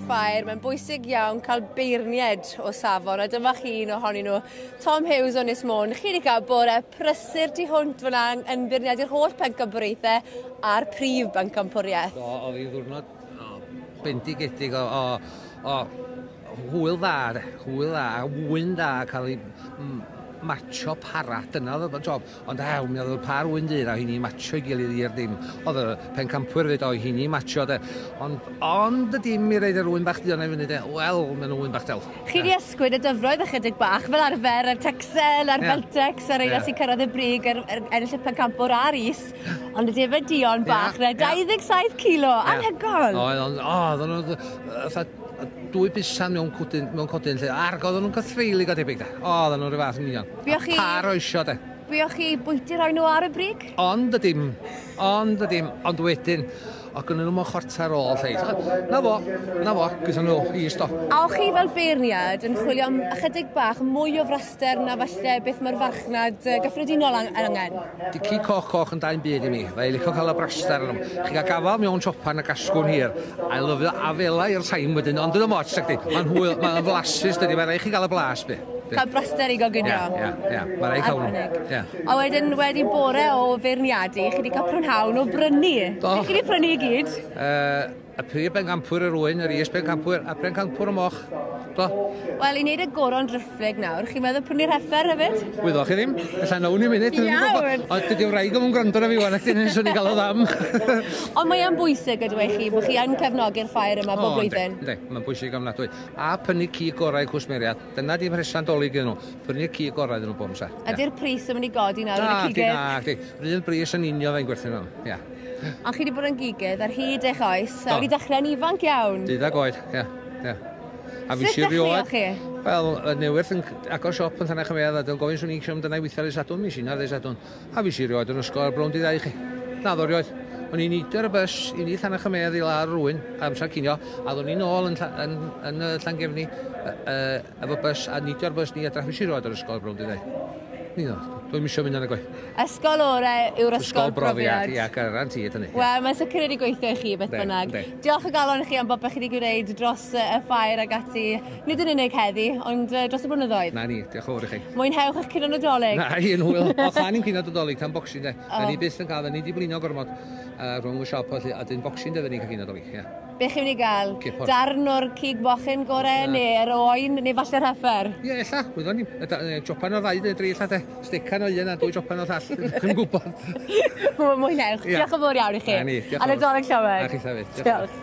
ffair, mae'n bwysig iawn cael beirnied o safon, a dyma chi un ohonyn nhw, Tom Hughes o Ynys Môn. Chi wedi cael bore prysur tu hwnt fyna yn beirniadu'r holl pencampwriaethau a'r prif bencampwriaeth. Do, oedd hi'n ddiwrnod bendigedig o hwyl dda, de. Hwyl dda, a wyn da, cael ei matcho para, dyna oedd y job. Ond ew, mi oedd y par wyn dyn a hynny matcho i gilydd i'r dim. Oedd y pencampwyr fyd o hynny matcho de. Ond y dim i reid yr wyn bach duon i fyny de. Wel, maen nhw wyn bach del. Chi di ysgwyd y dyfroedd ychydig bach, fel arfer, yr Texel, a'r Beltex, a'r reina sy'n cyrraedd y brig, ennill y pencampwr a'r is. Ond y defaid duon bach, 27 kilo, anhygoel! Oedd, ond, o, oedden nhw, dwy busan mewn cwdyn, mewn codyn lle. Arg, oedden nhw'n cythreulig o debyg, de. O, oedden nhw'n rhyw fath yn union. Par o isio, de. Buoch chi bwyty rhoi nhw ar y brig? Ond y dim, ond y dim, ond wedyn, o gynnyn nhw mewn chwarter ôl lle. Na fo, na fo, gyda nhw i stop. A o'ch chi fel beirniad yn chwilio am ychydig bach mwy o fraster na falle beth mae'r farchnad gyffredinol angen? Di ci coch coch yn dau'n byd i mi. Fe licio cael y braster yn nhw. Chi gael gafal mewn chopan a gasgwn hir. I lyfio afela i'r time wedyn, ond dyna moch, dydy. Mae'n hwyl, mae'n flasus, dydy. Mae'n rhaid chi gael y blas, be. Cael braster i goginio. Ie, ie, ie. Mae'n rhaid cael nhw. Ie. A wedyn, wedi bore o feirniadu, chi wedi cael prynhawn o brynu. Do. Chi wedi prynu i gyd? Y prif bencampwyr yr wyn, yr is bencampwyr, a pencampwyr y moch. Do. Wel, i wneud y goron driphlyg nawr, chi'n meddwl prynu'r heffer hefyd? Wyddoch chi ddim. Ella nawn ni munud. Iawn. Ond dydy wraig o'm yn gwrando na fi wan, ac dyn swn i'n gael o ddam. Ond mae e'n bwysig ydw i chi, bod chi yn cefnogi'r ffair yma bob blwyddyn. Yndi, mae'n bwysig ofnadwy. A prynu cig gorau cwsmeriad. Dyna di mhresan Dolig iddyn nhw. Prynu cig gorau iddyn nhw bob amser. Ydy'r pris yn mynd i godi nawr yn y cigydd? Na, di. Rhywun bris yn union fe'n gwerthu nhw. Ia. Ond chi wedi bod yn gigydd ar hyd eich oes, a wedi dechrau'n ifanc iawn. 12 oed, ia. Ia. A fi Sut dechreuoch chi? Wel, y newydd yn agor siop yn Llanach y Medd, a dwi'n gofyn swn i'n eisiau amdana i weithio ar y Sadwrn, mis i ar y Sadwrn. A fi si rioed yn ysgol ar bron di ddau chi. Na, ddo rioed. O'n i'n neidio ar y bus i ni Llanach y Medd i lawr rwy'n amser cinio, a ddwn i'n ôl yn, yn Llangefni efo bus, a neidio ar bus ni adra. Fi si rioed ar ysgol ar bron di ddau. Ni ddo, dwi'n misio mynd ar y gwaith. Ysgol orau yw'r ysgol brofiad. Ia, garantid hynny. Wel, mae'n sicr wedi gweithio i chi beth bynnag. Diolch o galon i chi am bopeth chi wedi gwneud dros y ffair ag ati, nid yn unig heddi, ond dros y blynyddoedd. Na ni, diolch yn fawr i chi. Mwynhewch eich cinio Nadolig. Na, un hwyl. O, chan i'n cinio Nadolig tan Boxing Day. Na ni byth yn cael, ni di blino gormod rhwng y siop, a dyn Boxing Day fydden ni'n cael cinio Nadolig, ia. Be chi'n mynd i gael? Darn o'r cig mochyn gorau, neu'r oen, neu falle'r heffer? Ie, ella, wyddon ni. Jopan o'r ddau, neu dri, ella, de. Stecan o un a dwy jopan o'r llall. Dwi'n gwybod. Mwynhewch. Diolch yn fawr iawn i chi. Na ni, diolch yn fawr. A Nadolig llawen. A chi hefyd. Diolch.